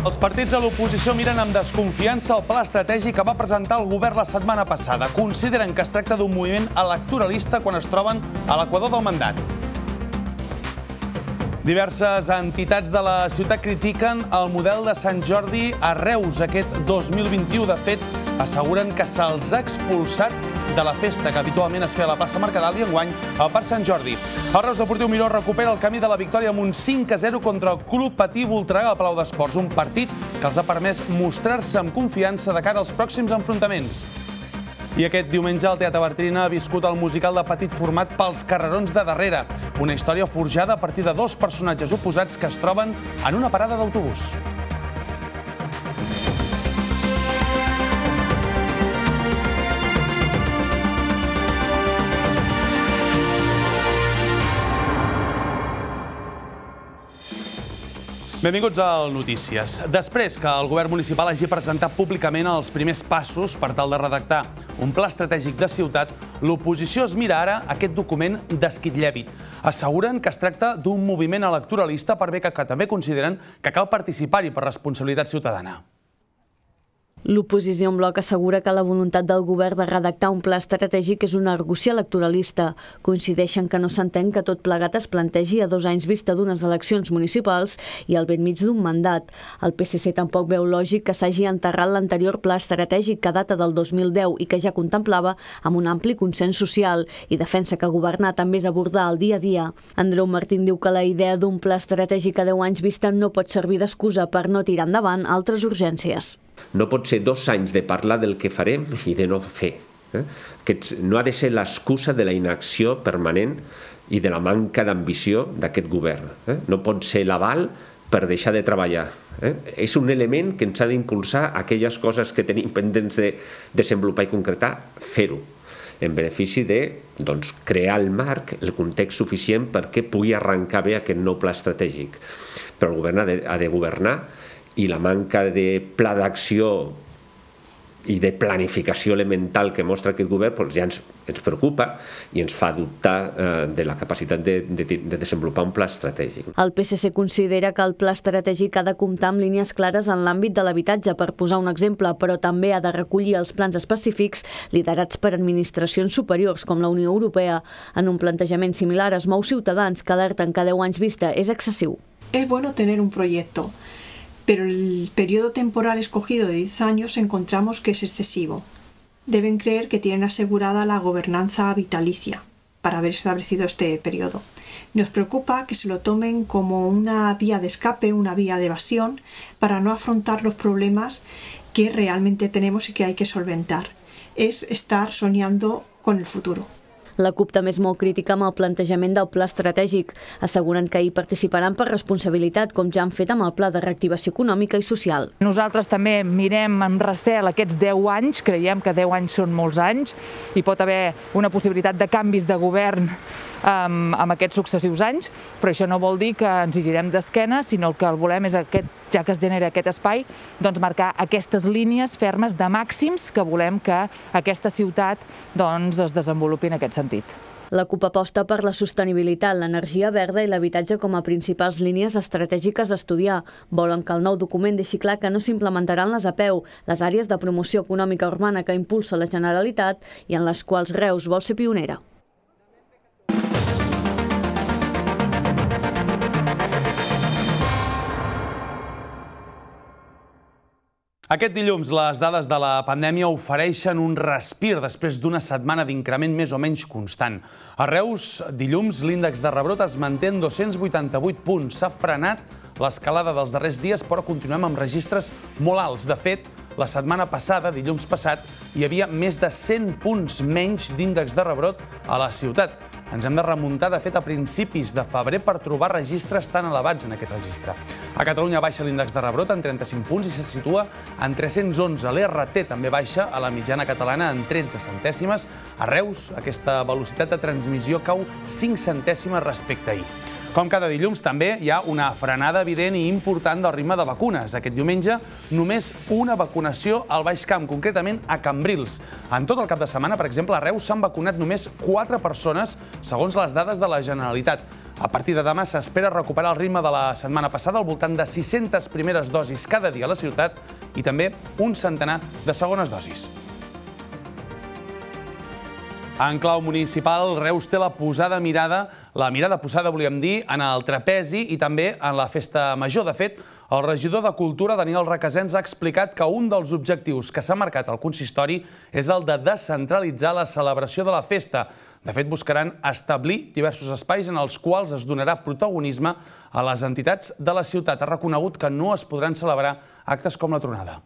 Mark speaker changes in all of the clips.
Speaker 1: Els partits a l'oposició miren amb desconfiança el pla estratègic que va presentar el govern la setmana passada. Consideren que es tracta d'un moviment electoralista quan es troben a l'equador del mandat. Diverses entitats de la ciutat critiquen el model de Sant Jordi a Reus aquest 2021. De fet, asseguren que se'ls ha expulsat de la festa que habitualment es feia a la plaça Mercadal i enguany al Parc Sant Jordi. El Reus Deportiu Miró recupera el camí de la victòria amb un 5-0 contra el Club Patí Voltregà al Palau d'Esports, un partit que els ha permès mostrar-se amb confiança de cara als pròxims enfrontaments. I aquest diumenge el Teatre Bartrina ha viscut el musical de Petit format pels carrerons de darrere, una història forjada a partir de dos personatges oposats que es troben en una parada d'autobús. Benvinguts al Notícies. Després que el govern municipal hagi presentat públicament els primers passos per tal de redactar un pla estratègic de ciutat, l'oposició es mira ara aquest document d'esquitllèbit. Asseguren que es tracta d'un moviment electoralista per bé que també consideren que cal participar-hi per responsabilitat ciutadana.
Speaker 2: L'oposició en bloc assegura que la voluntat del govern de redactar un pla estratègic és una argucia electoralista. Coincideixen que no s'entén que tot plegat es plantegi a 2 anys vista d'unes eleccions municipals i al bell mig d'un mandat. El PSC tampoc veu lògic que s'hagi enterrat l'anterior pla estratègic que data del 2010 i que ja contemplava amb un ampli consens social i defensa que governar també és abordar el dia a dia. Andreu Martín diu que la idea d'un pla estratègic a 10 anys vista no pot servir d'excusa per no tirar endavant altres urgències.
Speaker 3: No pot ser 2 anys de parlar del que farem i de no fer. No ha de ser l'excusa de la inacció permanent i de la manca d'ambició d'aquest govern. No pot ser l'aval per deixar de treballar. És un element que ens ha d'impulsar aquelles coses que tenim pendents de desenvolupar i concretar, fer-ho, en benefici de crear el marc, el context suficient perquè pugui arrencar bé aquest nou pla estratègic. Però el govern ha de governar i la manca de pla d'acció i de planificació elemental que mostra aquest govern ja ens preocupa i ens fa dubtar de la capacitat de desenvolupar un pla estratègic.
Speaker 2: El PSC considera que el pla estratègic ha de comptar amb línies clares en l'àmbit de l'habitatge, per posar un exemple, però també ha de recollir els plans específics liderats per administracions superiors com la Unió Europea. En un plantejament similar es mou Ciutadans, que alerten que 10 anys vista és excessiu.
Speaker 4: Es bueno tener un proyecto, pero el periodo temporal escogido de 10 años encontramos que es excesivo. Deben creer que tienen asegurada la gobernanza vitalicia para haber establecido este periodo. Nos preocupa que se lo tomen como una vía de escape, una vía de evasión, para no afrontar los problemas que realmente tenemos y que hay que solventar. Es estar soñando con el futuro.
Speaker 2: La CUP també és molt crítica amb el plantejament del pla estratègic. Asseguren que hi participaran per responsabilitat, com ja han fet amb el pla de reactivació econòmica i social.
Speaker 5: Nosaltres també mirem amb recel aquests 10 anys, creiem que 10 anys són molts anys, i pot haver una possibilitat de canvis de govern amb aquests successius anys, però això no vol dir que ens hi girem d'esquena, sinó que el volem és, ja que es genera aquest espai, marcar aquestes línies fermes de màxims que volem que aquesta ciutat es desenvolupi en aquest sentit.
Speaker 2: La CUP aposta per la sostenibilitat, l'energia verda i l'habitatge com a principals línies estratègiques a estudiar. Volen que el nou document deixi clar que no s'implementaran les APEU, les àrees de promoció econòmica urbana que impulsa la Generalitat i en les quals Reus vol ser pionera.
Speaker 1: Aquest dilluns, les dades de la pandèmia ofereixen un respir després d'una setmana d'increment més o menys constant. A Reus, dilluns, l'índex de rebrot es manté en 288 punts. S'ha frenat l'escalada dels darrers dies, però continuem amb registres molt alts. De fet, la setmana passada, dilluns passat, hi havia més de 100 punts menys d'índex de rebrot a la ciutat. Ens hem de remuntar, de fet, a principis de febrer per trobar registres tan elevats en aquest registre. A Catalunya baixa l'índex de rebrot en 35 punts i se situa en 311. L'RT també baixa a la mitjana catalana en 13 centèsimes. A Reus, aquesta velocitat de transmissió cau 5 centèsimes respecte a ahir. Com cada dilluns, també hi ha una frenada evident i important del ritme de vacunes. Aquest diumenge, només una vacunació al Baix Camp, concretament a Cambrils. En tot el cap de setmana, per exemple, a Reus s'han vacunat només 4 persones, segons les dades de la Generalitat. A partir de demà s'espera recuperar el ritme de la setmana passada, al voltant de 600 primeres dosis cada dia a la ciutat i també un centenar de segones dosis. En clau municipal, Reus té la mirada posada, volíem dir, en el trapezi i també en la festa major. De fet, el regidor de Cultura, Daniel Requesens, ha explicat que un dels objectius que s'ha marcat al consistori és el de descentralitzar la celebració de la festa. De fet, buscaran establir diversos espais en els quals es donarà protagonisme a les entitats de la ciutat. Ha reconegut que no es podran celebrar actes com la tronada.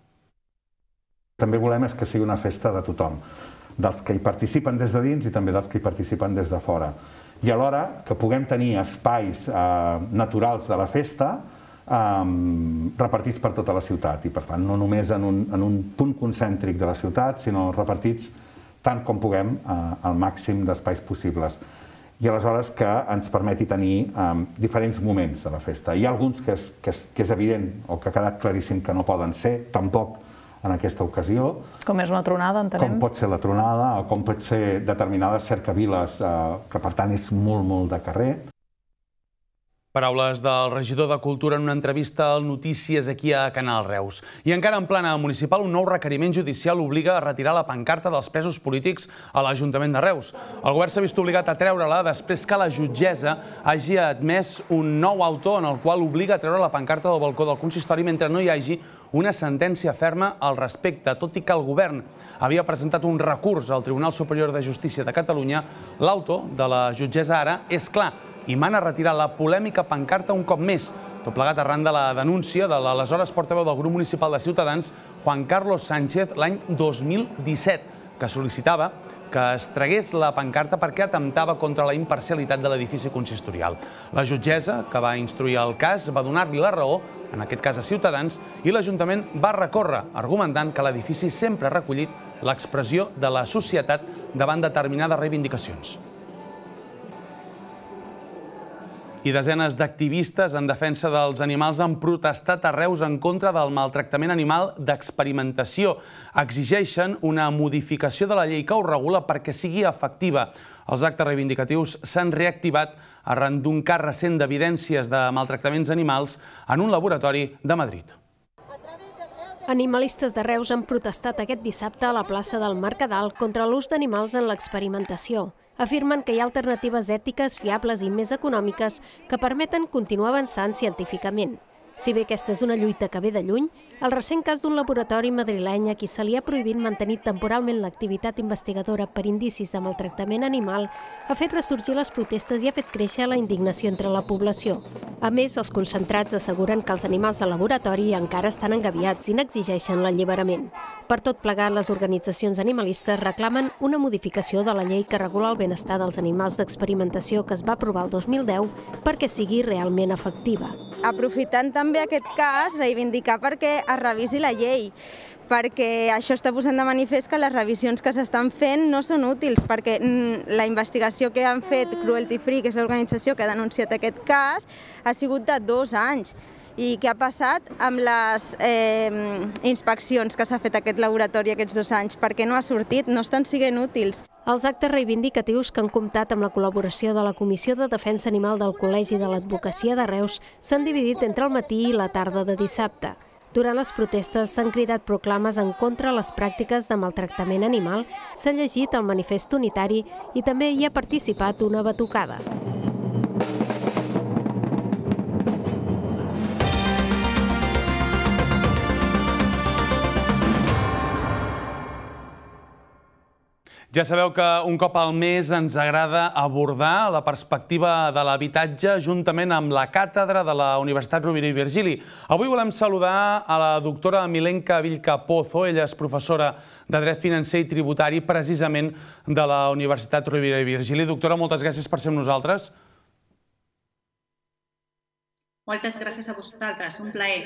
Speaker 6: També volem que sigui una festa de tothom, dels que hi participen des de dins i també dels que hi participen des de fora. I alhora que puguem tenir espais naturals de la festa repartits per tota la ciutat. I per tant, no només en un punt concèntric de la ciutat, sinó repartits tant com puguem al màxim d'espais possibles. I aleshores que ens permeti tenir diferents moments de la festa. Hi ha alguns que és evident o que ha quedat claríssim que no poden ser, tampoc en aquesta ocasió.
Speaker 7: Com és una tronada, entenem?
Speaker 6: Com pot ser la tronada, o com pot ser determinades cercaviles, que per tant és molt de carrer.
Speaker 1: Paraules del regidor de Cultura en una entrevista al Notícies aquí a Canal Reus. I encara en plana municipal, un nou requeriment judicial obliga a retirar la pancarta dels presos polítics a l'Ajuntament de Reus. El govern s'ha vist obligat a treure-la després que la jutgessa hagi admès un nou auto en el qual obliga a treure la pancarta del balcó del consistori mentre no hi hagi una sentència ferma al respecte. Tot i que el govern havia presentat un recurs al Tribunal Superior de Justícia de Catalunya, l'auto de la jutgessa ara és clar i mana retirar la polèmica pancarta un cop més, tot plegat arran de la denúncia de l'aleshores portaveu del grup municipal de Ciutadans, Juan Carlos Sánchez, l'any 2017, que sol·licitava que es tragués la pancarta perquè atemptava contra la imparcialitat de l'edifici consistorial. La jutgessa, que va instruir el cas, va donar-li la raó, en aquest cas a Ciutadans, i l'Ajuntament va recórrer, argumentant que l'edifici sempre ha recollit l'expressió de la societat davant determinades reivindicacions. I desenes d'activistes en defensa dels animals han protestat a Reus en contra del maltractament animal d'experimentació. Exigeixen una modificació de la llei que ho regula perquè sigui efectiva. Els actes reivindicatius s'han reactivat arran d'un cas recent d'evidències de maltractaments animals en un laboratori de Madrid.
Speaker 8: Animalistes de Reus han protestat aquest dissabte a la plaça del Mercadal contra l'ús d'animals en l'experimentació. Afirmen que hi ha alternatives ètiques, fiables i més econòmiques que permeten continuar avançant científicament. Si bé aquesta és una lluita que ve de lluny, el recent cas d'un laboratori madrileny a qui se li ha prohibit mantenir temporalment l'activitat investigadora per indicis de maltractament animal ha fet ressorgir les protestes i ha fet créixer la indignació entre la població. A més, els concentrats asseguren que els animals de laboratori encara estan engabiats i n'exigeixen l'alliberament. Per tot plegat, les organitzacions animalistes reclamen una modificació de la llei que regula el benestar dels animals d'experimentació que es va aprovar el 2010 perquè sigui realment efectiva.
Speaker 9: Aprofitant també aquest cas, reivindicar perquè es revisi la llei, perquè això està posant de manifest que les revisions que s'estan fent no són útils, perquè la investigació que han fet Cruelty Free, que és l'organització que ha denunciat aquest cas, ha sigut de 2 anys. I què ha passat amb les inspeccions que s'ha fet aquest laboratori aquests 2 anys? Per què no ha sortit? No estan sent útils.
Speaker 8: Els actes reivindicatius que han comptat amb la col·laboració de la Comissió de Defensa Animal del Col·legi de l'Advocacia de Reus s'han dividit entre el matí i la tarda de dissabte. Durant les protestes s'han cridat proclames en contra de les pràctiques de maltractament animal, s'ha llegit el manifest unitari i també hi ha participat una batucada.
Speaker 1: Ja sabeu que un cop al mes ens agrada abordar la perspectiva de l'habitatge juntament amb la càtedra de la Universitat Rovira i Virgili. Avui volem saludar a la doctora Milenka Vilca-Pozo. Ella és professora de Dret Financer i Tributari precisament de la Universitat Rovira i Virgili. Doctora, moltes gràcies per ser amb nosaltres.
Speaker 10: Moltes gràcies a vosaltres, un plaer.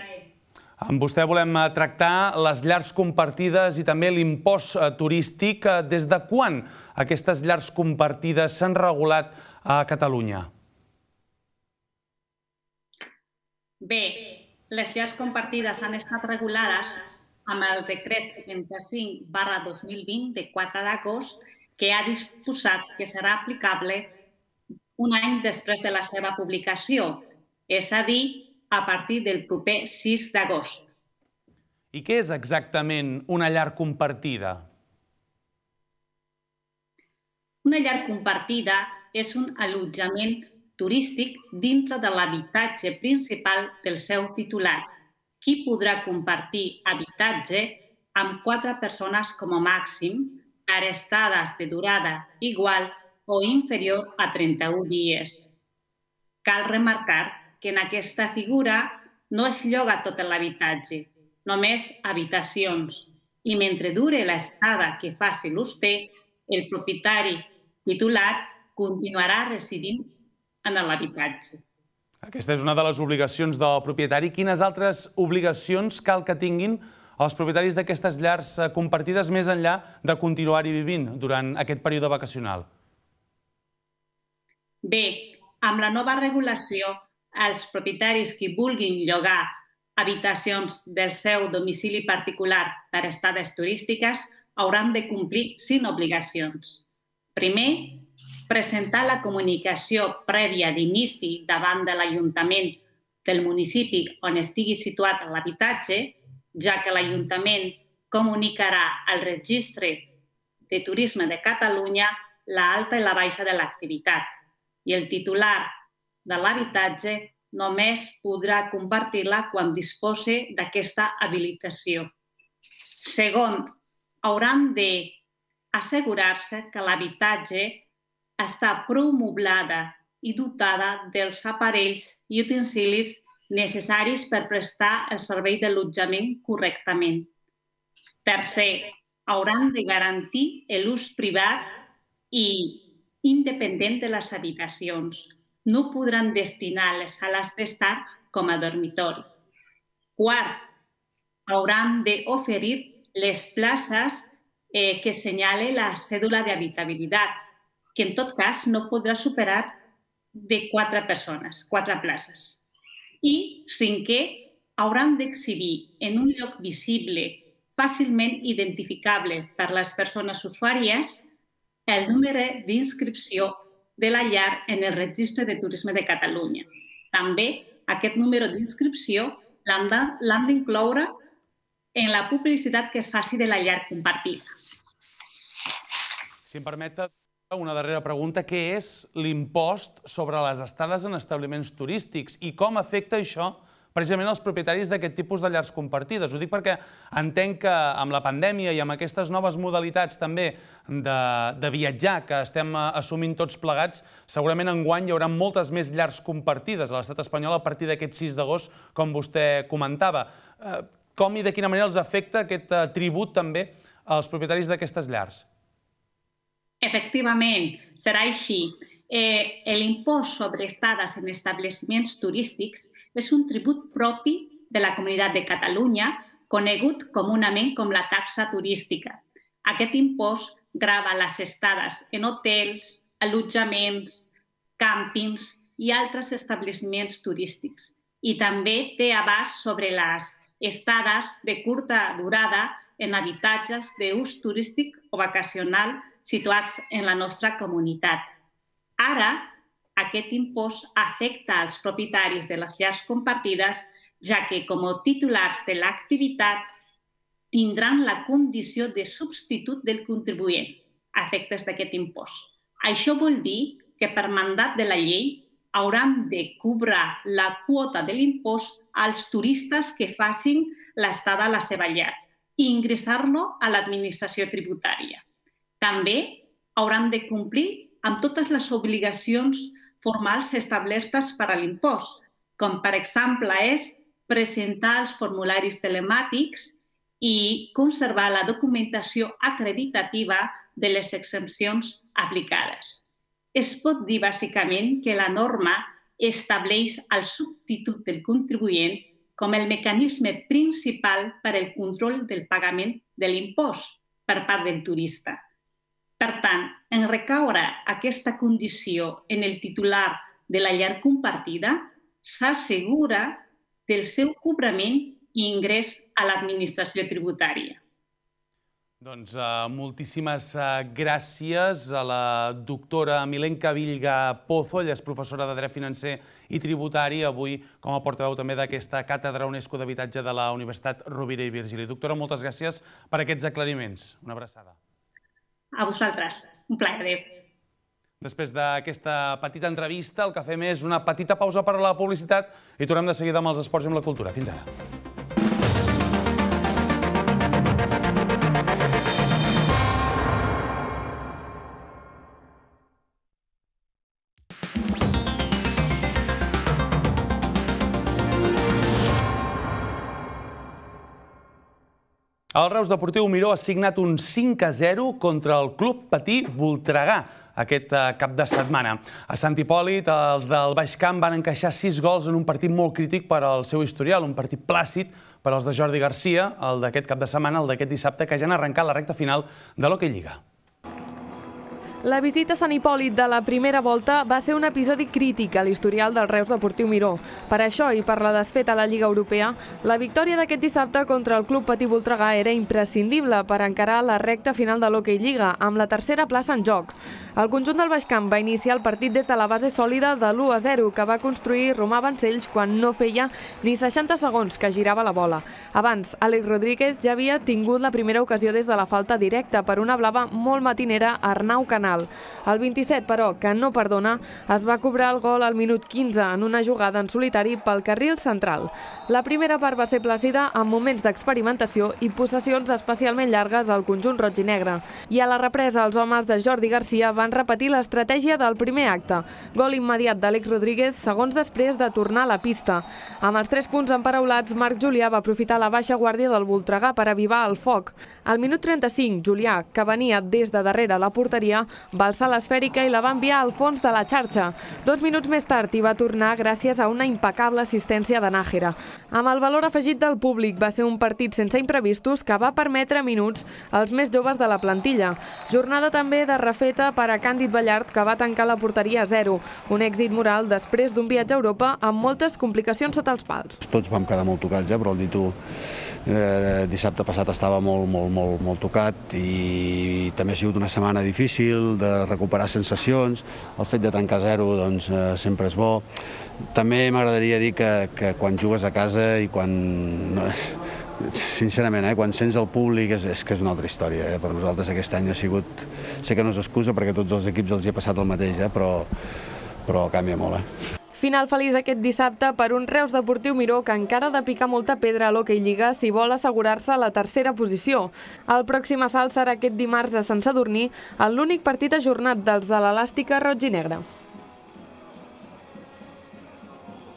Speaker 1: Amb vostè volem tractar les llars compartides i també l'impost turístic. Des de quan aquestes llars compartides s'han regulat a Catalunya?
Speaker 10: Bé, les llars compartides han estat regulades amb el decret 75/2020 de 4 d'agost que ha disposat que serà aplicable un any després de la seva publicació, és a dir, a partir del proper 6 d'agost.
Speaker 1: I què és exactament una llar compartida?
Speaker 10: Una llar compartida és un allotjament turístic dintre de l'habitatge principal del seu titular, qui podrà compartir habitatge amb 4 persones com a màxim per estades de durada igual o inferior a 31 dies. Cal remarcar que en aquesta figura no es lloga tot l'habitatge, només habitacions, i mentre dure l'estada que faci l'ús té, el propietari titular continuarà residint en l'habitatge.
Speaker 1: Aquesta és una de les obligacions del propietari. Quines altres obligacions cal que tinguin els propietaris d'aquestes llars compartides més enllà de continuar-hi vivint durant aquest període vacacional?
Speaker 10: Bé, amb la nova regulació, els propietaris que vulguin llogar habitacions del seu domicili particular per estades turístiques hauran de complir 5 obligacions. Primer, presentar la comunicació prèvia d'inici davant de l'Ajuntament del municipi on estigui situat l'habitatge, ja que l'Ajuntament comunicarà al Registre de Turisme de Catalunya l'alta i la baixa de l'activitat i el titular de l'habitatge només podrà compartir-la quan dispose d'aquesta habilitació. Segon, hauran d'assegurar-se que l'habitatge està prou moblada i dotada dels aparells i utensilis necessaris per prestar el servei d'allotjament correctament. Tercer, hauran de garantir l'ús privat i independent de les habitacions. No podran destinar les sales d'estar com a dormitori. Quart, hauran d'oferir les places que assenyale la cèdula d'habitabilitat, que en tot cas no podrà superar de 4 persones, 4 places. I cinquè, hauran d'exhibir en un lloc visible, fàcilment identificable per les persones usuàries, el número d'inscripció de la llar en el Registre de Turisme de Catalunya. També aquest número d'inscripció l'han d'incloure en la publicitat que es faci de la llar compartida.
Speaker 1: Si em permet una darrera pregunta, què és l'impost sobre les estades en establiments turístics i com afecta això precisament els propietaris d'aquest tipus de llars compartides? Ho dic perquè entenc que amb la pandèmia i amb aquestes noves modalitats també de viatjar que estem assumint tots plegats, segurament enguany hi haurà moltes més llars compartides a l'estat espanyol a partir d'aquest 6 d'agost, com vostè comentava. Com i de quina manera els afecta aquest tribut també als propietaris d'aquestes llars?
Speaker 10: Efectivament, serà així. L'impost sobre estades en establiments turístics és un tribut propi de la Comunitat de Catalunya, conegut comunament com la taxa turística. Aquest impost grava les estades en hotels, allotjaments, càmpings i altres establiments turístics. I també té abast sobre les estades de curta durada en habitatges d'ús turístic o vacacional situats en la nostra comunitat. Ara, aquest impost afecta als propietaris de les llars compartides, ja que com a titulars de l'activitat tindran la condició de substitut del contribuent a efectes d'aquest impost. Això vol dir que per mandat de la llei hauran de cobrar la quota de l'impost als turistes que facin l'estada a la seva llar i ingressar-lo a l'administració tributària. També hauran de complir amb totes les obligacions formals establertes per a l'impost, com per exemple és presentar els formularis telemàtics i conservar la documentació acreditativa de les exempcions aplicades. Es pot dir bàsicament que la norma estableix el substitut del contribuent com el mecanisme principal per al control del pagament de l'impost per part del turista. Per tant, en recaure aquesta condició en el titular de la llar compartida, s'assegura del seu cobrament i ingrés a l'administració tributària.
Speaker 1: Doncs moltíssimes gràcies a la doctora Milenka Villga Pozo. Ella és professora de Dret Financer i Tributari, avui com a portaveu també d'aquesta càtedra UNESCO d'Habitatge de la Universitat Rovira i Virgili. Doctora, moltes gràcies per aquests aclariments. Una abraçada.
Speaker 10: A vosaltres. Un plaer. Adéu.
Speaker 1: Després d'aquesta petita entrevista, el que fem és una petita pausa per a la publicitat i tornem de seguida amb els esports i amb la cultura. Fins ara. El Reus Deportiu Miró ha signat un 5-0 contra el Club Patí Voltregà aquest cap de setmana. A Sant Hipòlit, els del Baix Camp van encaixar 6 gols en un partit molt crític per al seu historial, un partit plàcid per als de Jordi Garcia, el d'aquest cap de setmana, el d'aquest dissabte, que ja han arrencat la recta final de l'Hockey Lliga.
Speaker 7: La visita a Sant Hipòlit de la primera volta va ser un episodi crític a l'historial del Reus Deportiu Miró. Per això i per la desfeta a la Lliga Europea, la victòria d'aquest dissabte contra el Club Patí Voltregà era imprescindible per encarar la recta final de l'Hockey Lliga, amb la tercera plaça en joc. El conjunt del Baix Camp va iniciar el partit des de la base sòlida de l'1-0 que va construir Romà Vancells quan no feia ni 60 segons que girava la bola. Abans, Àlex Rodríguez ja havia tingut la primera ocasió des de la falta directa per una blava molt matinera a Arnau Canal. El 27, però, que no perdona, es va cobrar el gol al minut 15 en una jugada en solitari pel carril central. La primera part va ser plàcida amb moments d'experimentació i possessions especialment llargues al conjunt roig i negre. I a la represa, els homes de Jordi Garcia van repetir l'estratègia del primer acte. Gol immediat d'Àlex Rodríguez, segons després de tornar a la pista. Amb els 3 punts emparaulats, Marc Julià va aprofitar la baixa guàrdia del Voltregà per avivar el foc. Al minut 35, Julià, que venia des de darrere la porteria, va alçar l'esfèrica i la va enviar al fons de la xarxa. 2 minuts més tard hi va tornar gràcies a una impecable assistència de Nájera. Amb el valor afegit del públic, va ser un partit sense imprevistos que va permetre minuts als més joves de la plantilla. Jornada també de refeta per a Càndid Ballart, que va tancar la porteria a 0. Un èxit moral després d'un viatge a Europa amb moltes complicacions sota els pals.
Speaker 11: Tots vam quedar molt tocats, però el Ditu dissabte passat estava molt tocat i també ha sigut una setmana difícil de recuperar sensacions. El fet de tancar 0 doncs, sempre és bo. També m'agradaria dir que quan jugues a casa i quan... Sincerament, quan sents el públic és que és una altra història. Per nosaltres aquest any ha sigut... Sé que no és excusa perquè a tots els equips els hi ha passat el mateix, però canvia molt.
Speaker 7: Final feliç aquest dissabte per un Reus Deportiu Miró que encara ha de picar molta pedra a l'Hockey Lliga si vol assegurar-se la tercera posició. El pròxim assalt serà aquest dimarts a Sant Sadurní, en l'únic partit ajornat dels de l'Elàstica roig i negre.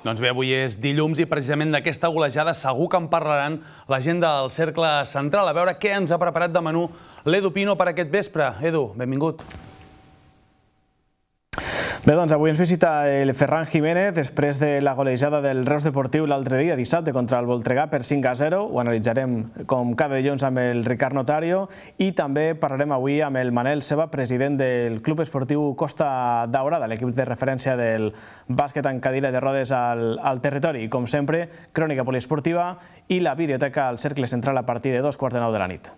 Speaker 1: Doncs bé, avui és dilluns i precisament d'aquesta golejada segur que en parlaran la gent del Cercle Central. A veure què ens ha preparat de menú l'Edu Pino per aquest vespre. Edu, benvingut.
Speaker 12: Bé, doncs avui ens visita el Ferran Jiménez després de la golejada del Reus Deportiu l'altre dia, dissabte, contra el Voltregà per 5-0. Ho analitzarem com cada dilluns amb el Ricard Notario i també parlarem avui amb el Manel Ceba, president del Club Esportiu Costa Daurada, l'equip de referència del bàsquet en cadira de rodes al territori. I com sempre, crònica poliesportiva i la videoteca al Cercle Central a partir de 2:45 de la nit.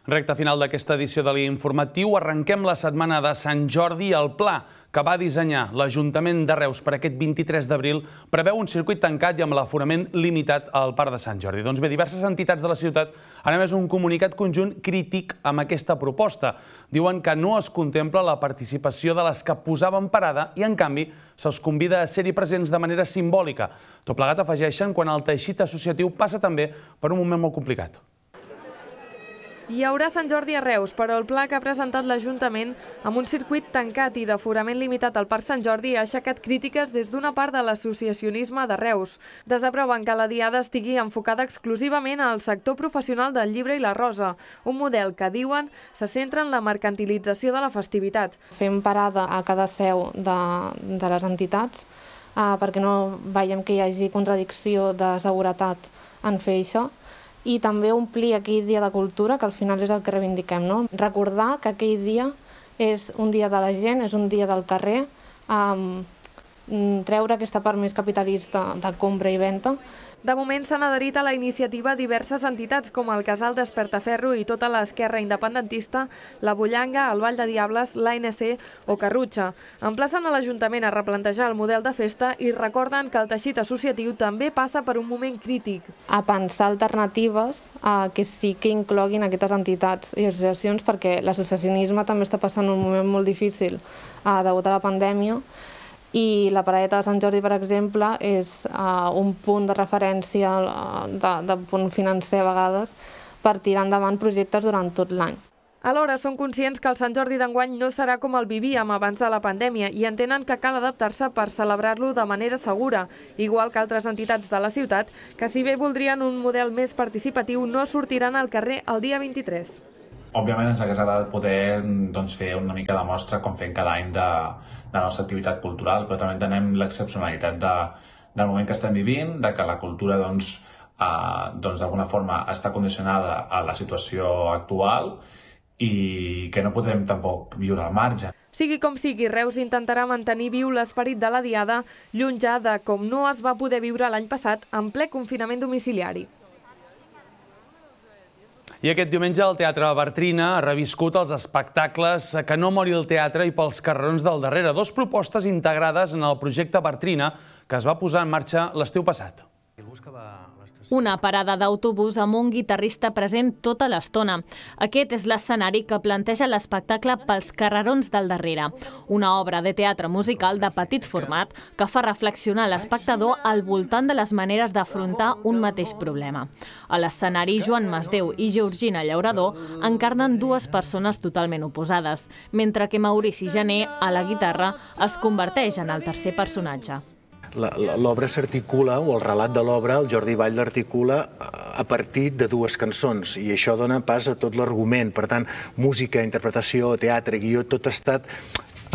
Speaker 1: Recta final d'aquesta edició de l'Informatiu. Arrenquem la setmana de Sant Jordi. El pla que va dissenyar l'Ajuntament de Reus per aquest 23 d'abril preveu un circuit tancat i amb l'aforament limitat al Parc de Sant Jordi. Doncs bé, diverses entitats de la ciutat han emès un comunicat conjunt crític amb aquesta proposta. Diuen que no es contempla la participació de les que posaven parada i, en canvi, se'ls convida a ser-hi presents de manera simbòlica. Tot plegat, afegeixen, quan el teixit associatiu passa també per un moment molt complicat.
Speaker 7: Hi haurà Sant Jordi a Reus, però el pla que ha presentat l'Ajuntament amb un circuit tancat i d'aforament limitat al Parc Sant Jordi ha aixecat crítiques des d'una part de l'associacionisme de Reus. Desaproven que la diada estigui enfocada exclusivament al sector professional del llibre i la rosa, un model que, diuen, se centra en la mercantilització de la festivitat.
Speaker 13: Fem parada a cada seu de les entitats perquè no veiem que hi hagi contradicció de seguretat en fer això. I també omplir aquell dia de cultura, que al final és el que reivindiquem, no? Recordar que aquell dia és un dia de la gent, és un dia del carrer, treure aquesta part més capitalista de compra i venda.
Speaker 7: De moment s'han adherit a la iniciativa diverses entitats com el Casal Despertaferro i tota l'esquerra independentista, la Bullanga, el Vall de Diables, l'ANC o Carrutxa. Emplacen a l'Ajuntament a replantejar el model de festa i recorden que el teixit associatiu també passa per un moment crític.
Speaker 13: A pensar alternatives que sí que incloguin aquestes entitats i associacions, perquè l'associacionisme també està passant un moment molt difícil degut a la pandèmia. I la Paradeta de Sant Jordi, per exemple, és un punt de referència, de punt financer a vegades, per tirar endavant projectes durant tot l'any.
Speaker 7: Alhora, són conscients que el Sant Jordi d'enguany no serà com el vivíem abans de la pandèmia i entenen que cal adaptar-se per celebrar-lo de manera segura, igual que altres entitats de la ciutat, que si bé voldrien un model més participatiu, no sortiran al carrer el dia 23.
Speaker 14: Òbviament ens hauria agradat poder fer una mica de mostra com fem cada any de la nostra activitat cultural, però també entenem l'excepcionalitat del moment que estem vivint, de que la cultura d'alguna forma està condicionada a la situació actual i que no podem tampoc viure al marge.
Speaker 7: Sigui com sigui, Reus intentarà mantenir viu l'esperit de la Diada, lluny ja de com no es va poder viure l'any passat en ple confinament domiciliari.
Speaker 1: I aquest diumenge el Teatre Bartrina ha reviscut els espectacles Que no mori el teatre i Pels carrerons del darrere, dues propostes integrades en el projecte Bartrina que es va posar en marxa l'estiu passat.
Speaker 15: Una parada d'autobús amb un guitarrista present tota l'estona. Aquest és l'escenari que planteja l'espectacle Pels carrerons del darrere, una obra de teatre musical de petit format que fa reflexionar l'espectador al voltant de les maneres d'afrontar un mateix problema. A l'escenari, Joan Masdeu i Georgina Llaurador encarnen dues persones totalment oposades, mentre que Maurici Janer, a la guitarra, es converteix en el tercer personatge.
Speaker 16: L'obra s'articula, o el relat de l'obra, el Jordi Vall l'articula a partir de dues cançons i això dona pas a tot l'argument. Per tant, música, interpretació, teatre, guió, tot ha estat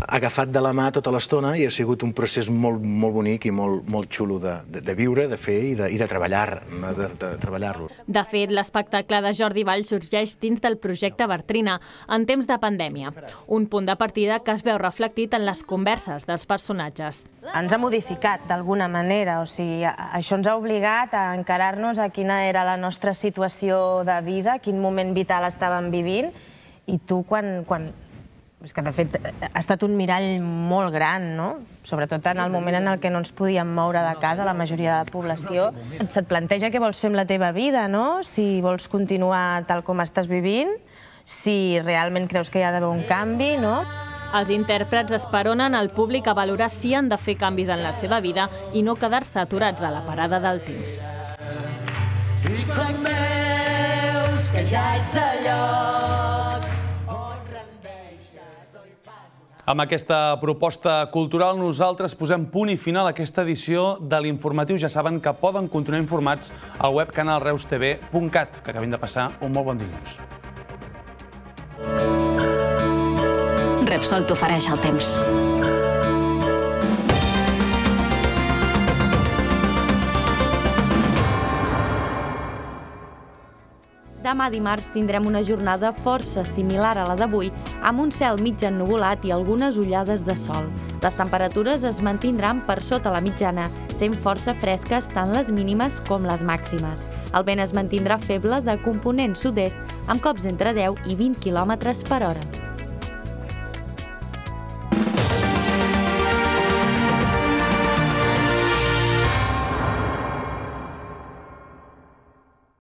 Speaker 16: agafat de la mà tota l'estona i ha sigut un procés molt bonic i molt xulo de viure, de fer i de treballar-lo.
Speaker 15: De fet, l'espectacle de Jordi Vall sorgeix dins del projecte Bartrina en temps de pandèmia, un punt de partida que es veu reflectit en les converses dels personatges.
Speaker 17: Ens ha modificat d'alguna manera, o sigui, això ens ha obligat a encarar-nos a quina era la nostra situació de vida, quin moment vital estàvem vivint, i tu quan... És que, de fet, ha estat un mirall molt gran, no? Sobretot en el moment en què no ens podíem moure de casa, la majoria de la població. Se't planteja què vols fer amb la teva vida, no? Si vols continuar tal com estàs vivint, si realment creus que hi ha d'haver un canvi, no?
Speaker 15: Els intèrprets esperonen el públic a valorar si han de fer canvis en la seva vida i no quedar-se aturats a la parada del temps.
Speaker 18: I quan veus que ja ets a lloc.
Speaker 1: Amb aquesta proposta cultural nosaltres posem punt i final a aquesta edició de l'Informatiu. Ja saben que poden continuar informats al web canalreustv.cat. Que acabin de passar un molt bon dilluns.
Speaker 19: Repsol t'ofereix el temps.
Speaker 2: Demà dimarts tindrem una jornada força similar a la d'avui, amb un cel mig ennuvolat i algunes ullades de sol. Les temperatures es mantindran per sota la mitjana, sent força fresques tant les mínimes com les màximes. El vent es mantindrà feble de component sud-est, amb cops entre 10 i 20 km per hora.